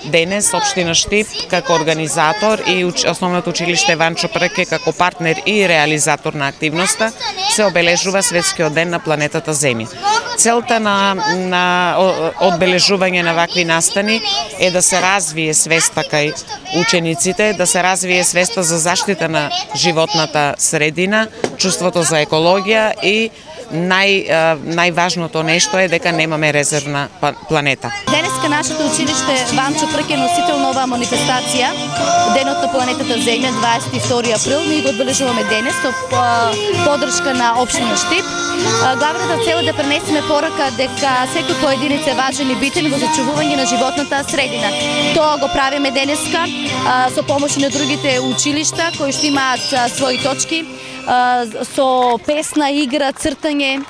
денес општина Штип како организатор и Основното училиште Ванчо Прке како партнер и реализатор на активноста се обележува Светскиот ден на планетата Земја. Целта на одбележување на вакви настани е да се развие свеста кај учениците, да се развие свеста за заштита на животната средина, чувството за екологија и најважното нешто е дека немаме резервна планета. Денеска нашето училиште Ванчо Прке е носител на оваа манифестација, Денот на планетата Земја, 22 април. Ние го одбележуваме денес со поддршка на општина Штип. Главната цел е да пренесеме порака дека секој поединец е важен и битен во зачувување на животната средина. Тоа го правиме денеска со помош на другите училишта кои што имаат своји точки, со песна, игра, цртање.